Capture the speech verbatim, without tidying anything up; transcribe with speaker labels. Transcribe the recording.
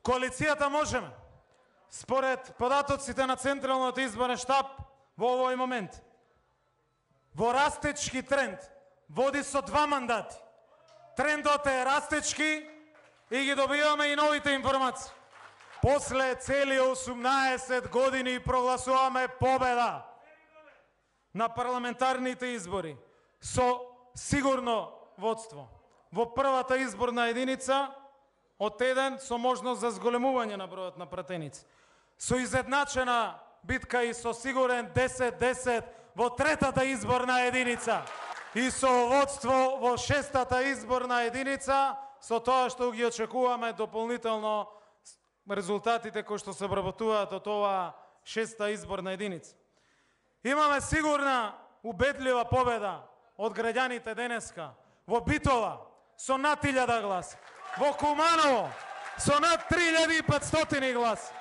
Speaker 1: Коалицијата Можеме, според податоците на Централниот изборен штаб, во овој момент, во растечки тренд, води со два мандати. Трендот е растечки и ги добиваме и новите информации. После цели осумнаесет години прогласуваме победа на парламентарните избори со сигурно водство. Во првата изборна единица од еден со можност за зголемување на бројот на пратеници. Со изедначена битка и со сигурен десет десет во третата изборна единица и со водство во шестата изборна единица, со тоа што ги очекуваме дополнително резултатите кои што се обработуваат од оваа шеста изборна единица. Имаме сигурна, убедлива победа од граѓаните денеска во Битола со над илјада гласа, во Куманово со над три илјади и петстотини гласа,